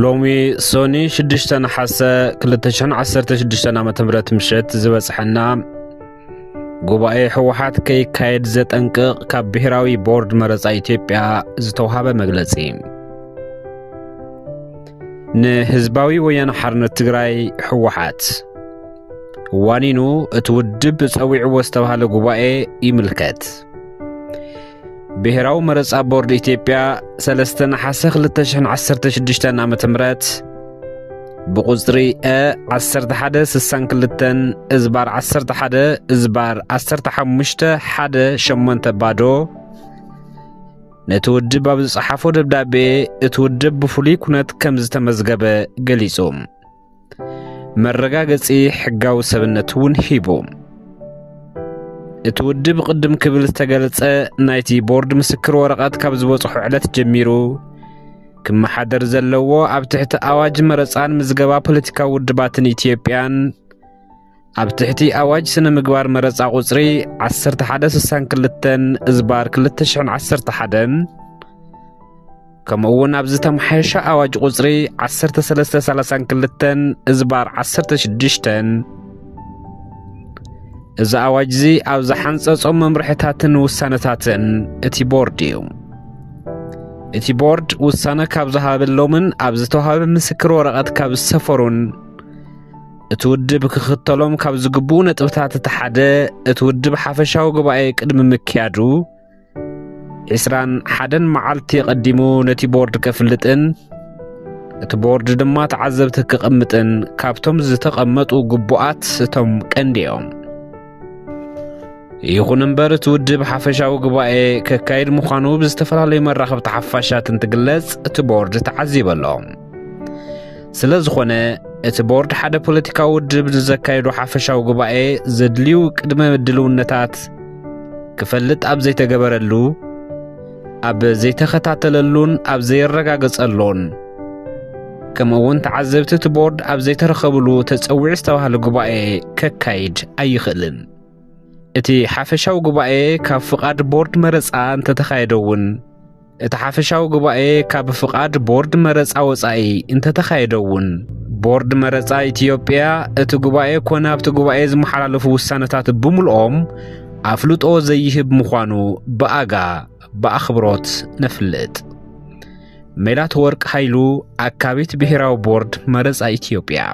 ሎሚ ሶኒ ሽዱሽተ ነሓሰ ክልተ ሽሕን ዓሰርተ ሽዱሽተን ዓመተ ምህረት ምሸት ዝበጽሐና ጉባኤ ህወሓት ከይካየድ ዘጠንቅቕ ካብ ብሄራዊ ቦርድ መረጻ ኢትዮጵያ ዝተውሃበ መግለጺ። ንህዝባዊ ወያነ ሓርነት ትግራይ ህወሓት ዋኒኑ እቲ ውድብ ጸዊዕዎ ዝተባህለ ጉባኤ ይምልከት። ብሄራዊ መረጻ ቦርድ ኢትዮጵያ ሰለስተ ነሓሰ ክልተ ሽሕን ዓሰርተ ሽዱሽተን ዓመተ ምህረት ብቁጽሪ እ ዓሰርተ ሓደ ስሳን ክልተን እዝባር ዓሰርተ ሓደ እዝባር ዓሰርተ ሓሙሽተ ሓደ ሸሞንተ ባዶ ነቲ ውድብ ኣብ ዝጸሓፎ ደብዳቤ እቲ ውድብ ብፍሉይ ኩነት ከም ዝተመዝገበ ገሊጹ። መረጋገጺ ሕጋዊ ሰብነት እውን ሂቡ። እቲ ውድብ ቅድም ክብል ዝተገለጸ ናይቲ ቦርድ ምስክር ወረቐት ካብ ዝበጽሖ ዕለት ጀሚሩ ክመሓደር ዘለዎ ኣብ ትሕቲ ኣዋጅ መረጻን ምዝገባ ፖለቲካዊ ውድባትን ኢትዮጵያን ኣብ ትሕቲ ኣዋጅ ስነ ምግባር መረጻ ቁጽሪ ዓሰርተ ሓደ ስሳን ክልተን እዝባር ክልተ ሽሕን ዓሰርተ ሓደን ከምኡ እውን ኣብ ዝተመሓየሸ ኣዋጅ ቁጽሪ ዓሰርተ ሰለስተ ሰላሳን ክልተን እዝባር ዓሰርተ ሽዱሽተን እዚ ኣዋጅ እዚ ኣብ ዝሓንጸጾም መምርሕታትን ውሳነታትን እቲ ቦርድ እዩ። እቲ ቦርድ ውሳነ ካብ ዝሃበሎምን ኣብ ዝተዋህበ ምስክር ወረቐት ካብ ዝሰፈሩን እቲ ውድብ ክኽተሎም ካብ ዝግብኡ ነጥብታት እቲ ሓደ እቲ ውድብ ሓፈሻዊ ጉባኤ ቅድሚ ምክያዱ ዕስራን ሓደን መዓልቲ ቀዲሙ ነቲ ቦርድ ከፍልጥን እቲ ቦርድ ድማ ተዓዘብቲ ክቕምጥን ካብቶም ዝተቐመጡ ግቡኣት እቶም ቀንዲ እዮም። ይኹን እምበር እቲ ውድብ ሓፈሻዊ ጉባኤ ከካይድ ምዃኑ ብዝተፈላለዩ መራኸብቲ ሓፋሻት እንትግለጽ እቲ ቦርድ ተዓዚቡ ኣሎ። ስለ ዝኾነ እቲ ቦርድ ሓደ ፖለቲካዊ ውድብ ንዘካየዶ ሓፈሻዊ ጉባኤ ዘድልዩ ቅድመ ድልውነታት ክፈልጥ ኣብ ዘይተገበረሉ፣ ኣብ ዘይተኸታተለሉን ኣብ ዘየረጋገጸሉን ከምኡ እውን ተዓዘብቲ እቲ ቦርድ ኣብ ዘይተረኸብሉ ተጸዊዑ ዝተባህለ ጉባኤ ከካይድ ኣይኽእልን። እቲ ሓፈሻዊ ጉባኤ ካብ ፍቓድ ቦርድ መረጻ እንተተኻየደ እውን እቲ ሓፈሻዊ ጉባኤ ካብ ፍቓድ ቦርድ መረጻ ወጻኢ እንተተኻየደ እውን ቦርድ መረጻ ኢትዮጵያ እቲ ጉባኤ ኮነ ኣብቲ ጉባኤ ዝመሓላለፉ ውሳነታት ብምልኦም ኣፍልጦ ዘይህብ ምዃኑ ብኣጋ ብኣኽብሮት ነፍልጥ። ሜላት ወርቅ ሃይሉ ኣካቢት ብሄራዊ ቦርድ መረጻ ኢትዮጵያ።